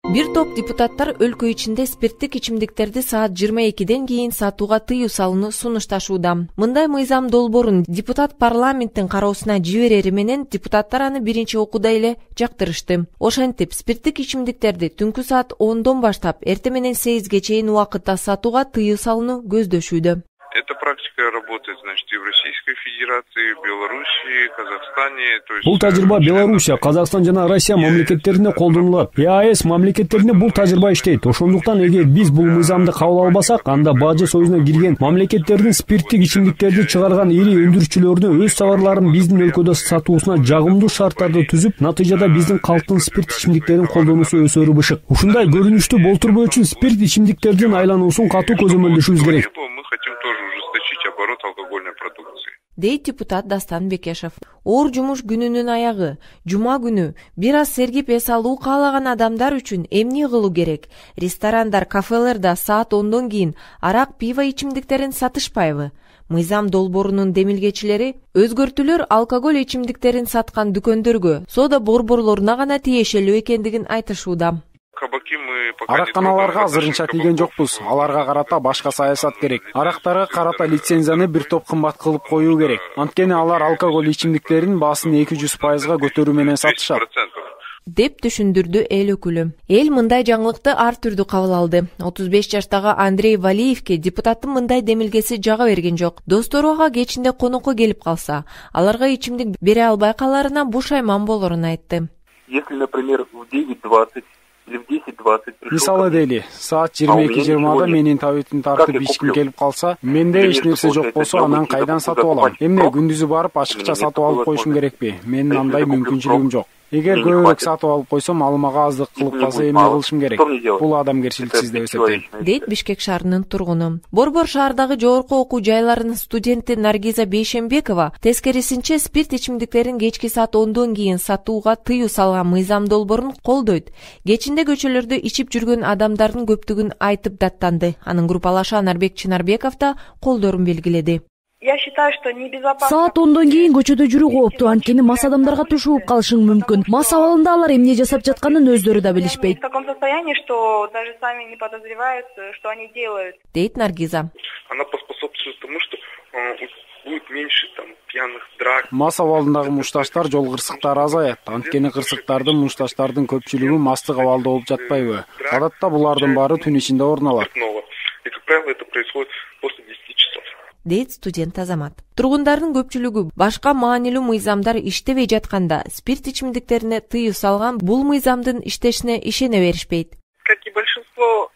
Бир топ депутаттар өлкө ичинде спирттик ичимдиктерди саат 22ден кийин сатууга тыюу салууну сунушташууда. Мындай мыйзам долбоорун депутат парламенттин кароосуна жиберери менен депутаттар аны биринчи окууда эле жактырышты. Ошентип, спирттик ичимдиктерди түнкү саат 10дон баштап эртең менен 8ге чейин убакытта сатууга тыюу салууну көздөшүүдө. Эта практика работает, значит, и в Российской Федерации, в Белоруссии, Казахстане. Бул тажрыйба Белоруссия, Казакстан жана Россия мамлекеттерине колдонулат. ЕАЭС мамлекеттерине бул тажрыйба иштейт. Ошондуктан эгер биз бул мыйзамды кабыл албасак, анда Бажы союзуна кирген мамлекеттердин спирттик ичимдиктерди чыгарган ири өндүрүүчүлөрүнө өз товарларын биздин өлкөдө сатуусуна жагымдуу шарттарды түзүп, натыйжада биздин калктын спирт ичимдиктерин колдонуусу өсөрү бышык. Ушундай көрүнүштү болтурбоо үчүн спирт ичимдиктердин айлануусун катуу көзөмөлдөшүбүз керек. Мы хотим тоже ужесточить оборот алкогольной продукции. Дейт депутат Дастан Бекешев. Оор жумуш күнүнүн аягы, жума күнү бир аз сергип эс алуу каалаган адамдар үчүн эмне кылуу керек? Ресторандар, кафелерде саат 10дон кийин арак, пиво ичимдиктерин сатышпайбы? Мыйзам долбоорунун демилгечилери өзгөртүүлөр алкоголь ичимдиктерин саткан дүкөндөргө, соода борборлоруна гана тиешелүү экендигин айтышууда. Аракканаларга азырынча тийген жокпуз. Аларга карата башка саясат керек. Арактарга карата лицензияны бир топ кымбат кылып коюу керек. Анткени алар алкоголь ичимдиктерин баасын 200%га көтөрүү менен сатышат. Деп түшүндүрдү эл өкүлү. Эл мындай жаңылыкты ар түрдүү кабыл алды. 35 жаштагы Андрей Валиевке депутаттын мындай демилгеси жага берген жок. Достору ага кечинде конокко келип калса, аларга ичимдик бере албай каларына бушайман болорун айтты. Если, например, в 9:20 или в 10:20 Мисалы дейли, саат 22:20да менин табитим тартып ичким келип калса, менде эч нерсе жок болсо, анан кайдан сатып алам? Эмне күндүзү барып ачыкча сатып алып коюшум керекпи? Менин андай мүмкүнчүлүгүм жок. Эгер көбүрөөк сатып алып койсом, ал мага аздык кылып калса эмне кылышым керек? Бул адамгерчиликсиз деп эсептейм. Дейт Бишкек шаарынын тургуну. Борбор шаардагы жогорку окуу жайларынын студенти Наргиза Бейшембекова тескерисинче спирт ичимдиктерин кечки саат 10дон кийин сатууга тыюу салган мыйзам долбоорун колдойт. Кечинде көчөлөрдө ичип жүргөн адамдардын көптүгүн айтып даттанды. Анын группалашы Анарбек Чынарбеков да колдорун белгиледи. Я считаю, что небезопасно. Саат 10дон кийин көчөдө жүрүү кооптуу, анткени мас адамдарга тушууп калышың мүмкүн. Мас абалында алар эмне жасап жатканын өздөрү да билишпейт. В таком состоянии, что даже сами не подозревают, что они делают. Дейт Наргиза. Она поспособствует тому, что будет меньше там пьяных драк. Мас абалындагы мушташтар, жол кырсыктары азаят. Анткени кырсыктардын, мушташтардын көпчүлүгү мастык абалда болуп жатпайбы? Адатта булардын баары түн ичинде орун алат. И, как правило, это происходит после 10 часов. Дейт студент Азамат. Тургундардын көпчүлүгү башка маанилүү мыйзамдар иштебей жатканда спирт ичимдиктерине тыюу салган бул мыйзамдын иштешине ишене беришпейт. Как и большинство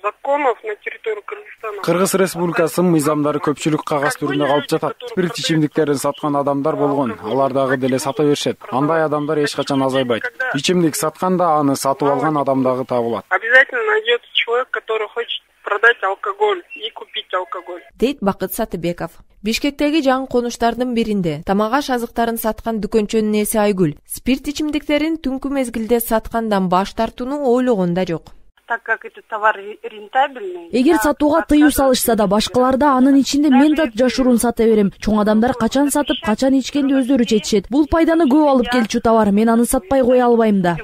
законов на территории Кыргызстана. Кыргыз Республикасынын мыйзамдары көпчүлүк кагаз түрүндө калып жатат. Спирт ичимдиктерин саткан адамдар болгон, алар дагы деле сата беришет. Андай адамдар эч качан азайбайт. Ичимдик сатканда аны сатып алган адам дагы табылат. Обязательно найдется человек, который хочет продать алкоголь и купить алкоголь. Дейт Бакыт Сатыбеков. Бишкектеги жаңы конуштардын биринде тамак аш азыктарын саткан дүкөнчөнүн ээси Айгүл спирт ичимдиктерин түнкү мезгилде саткандан баш тартууну ойлогон да жок. Так как этот товар рентабельный. Эгер сатууга тыюу салышса да, башкалар да анын ичинде мен да жашыруун сата берем. Чоң адамдар качан сатып, качан ичкенди өздөрү чечишет. Бул пайданы көп алып келчү товар, мен аны сатпай кое албайм да.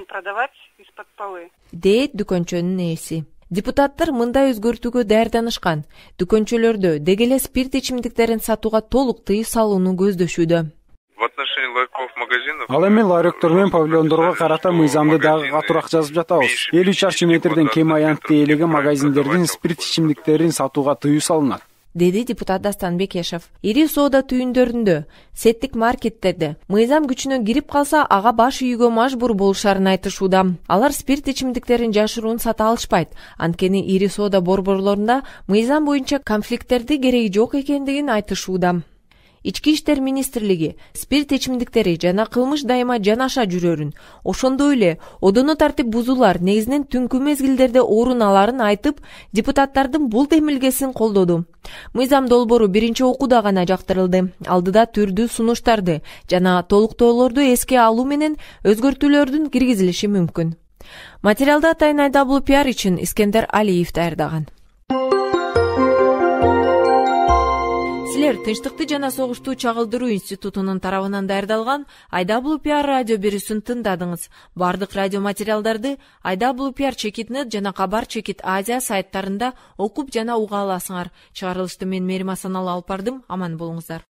Дейт дүкөнчөнүн ээси. Депутаттар мындай өзгөртүүгө даярданышкан. Дүкөнчөлөрдө деги эле спирт ичимдиктерин сатууга толук тыюу салууну көздөшүүдө. В отношении ларьков, магазинов. Ал эми ларектор менен павильондорго карата мыйзамды дагы катуураак жазып жатабыз. 50 чарчы метрден кем аянтты элеген магазиндердин спирт ичимдиктерин сатууга тыюу салынат. Деди депутат Дастан Бекешев. Ири соода түйүндөрүндө, сеттик маркеттерде мыйзам күчүнө кирип калса, ага баш үйгө мажбур болушарын айтышууда. Алар спирт ичимдиктерин жашыруун сата алышпайт. Анткени ири соода борборлорунда мыйзам боюнча конфликттерди кереги жок экендигин айтышууда. Ички иштер министрлиги спирт ичимдиктери жана кылмыш дайыма жанаша жүрөрүн, ошондой эле одоно тартип бузуулар негизинен түнкү мезгилдерде орун аларын айтып, депутаттардын бул демилгесин колдоду. Мыйзам долбоору биринчи окууда гана жактырылды. Алдыда түрдүү сунуштарды жана толуктоолорду эске алуу менен өзгөртүүлөрдүн киргизилиши мүмкүн. Материалды Атайын IWPR үчүн Искендер Алиев даярдаган. силер Тынчтыкты жана согушту чагылдыруу институтунун тарабынан даярдалган IWPR радио берүүсүн тыңдадыңыз. Бардык радио материалдарды IWPR Чекит.нет жана Кабар Чекит Азия сайттарында окуп жана уга аласыңар. Чыгарылышты мен Мерим Асаналы алып бардым. Аман болуңуздар.